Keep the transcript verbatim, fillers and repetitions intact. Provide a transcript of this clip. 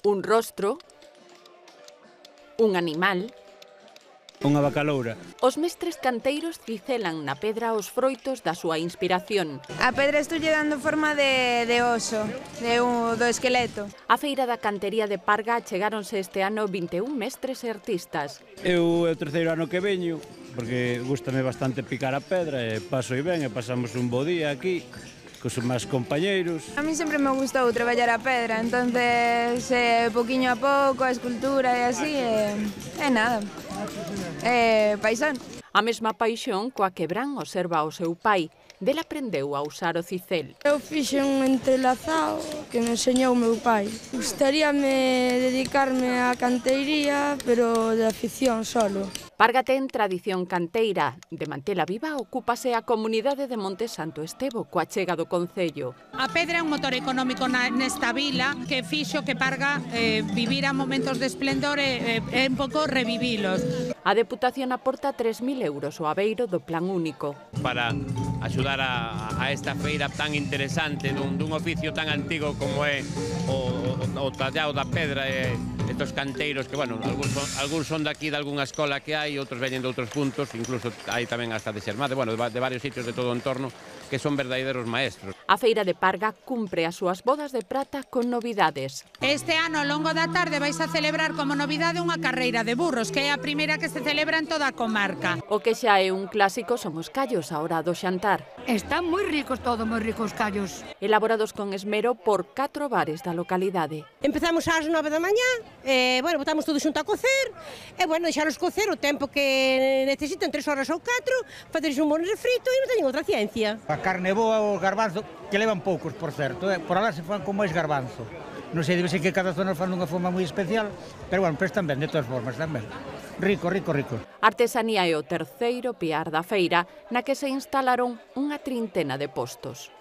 un rostro, un animal. Unha bacaloura. Os mestres canteiros cicelan na pedra os froitos da súa inspiración. A pedra estoulle dando forma de, de oso, de un, do esqueleto. A feira da cantería de Parga chegáronse este ano vinte e un mestres e artistas. Eu é o terceiro ano que veño, porque gústame bastante picar a pedra e paso e ben e pasamos un bo día aquí cos máis compañeiros. A mí sempre me gustou traballar a pedra, entonces eh, poquinho a pouco, a escultura e así, e eh, nada, eh, paisán. A mesma paixón coa que Bran observa o seu pai, del aprendeu a usar o cicel. Eu fixe un entrelazado que me enseñou o meu pai. Gustaríame dedicarme á canteiría, pero de afición solo. Parga ten tradición canteira. De mantela viva, ocúpase a comunidade de Monte Santo Estevo, coa chega do concello. A pedra é un motor económico na, nesta vila que fixo que Parga eh, vivira momentos de esplendor e eh, un pouco revivilos. A Deputación aporta tres mil euros ao abeiro do Plan Único. Para axudar a, a esta feira tan interesante dun, dun oficio tan antigo como é o, o, o tallado da pedra e estos canteiros que, bueno, algúns son, algúns son daqui de algunha escola que hai, outros veñen de outros puntos, incluso hai tamén hasta de Xermade, bueno, de, de varios sitios de todo o entorno, que son verdadeiros maestros. A feira de Parga cumpre as súas bodas de prata con novidades. Este ano, ao longo da tarde, vais a celebrar como novidade unha carreira de burros, que é a primeira que se celebra en toda a comarca. O que xa é un clásico son os callos a hora do xantar. Están moi ricos todos, moi ricos callos. Elaborados con esmero por catro bares da localidade. Empezamos ás nove da mañá, e, bueno, botamos todo xunto a cocer, e, bueno, deixaros cocer o tempo que necesitan, tres horas ou catro, faceres un bon refrito e non teñen outra ciencia. A carne boa, os garbanzos, que levan poucos, por certo, eh? Por alá se fan con máis garbanzo. Non sei, debe ser que cada zona fan dunha forma moi especial, pero, bueno, prestan ben, de todas formas, tamén. Rico, rico, rico. Artesanía é o terceiro piar da feira, na que se instalaron unha trintena de postos.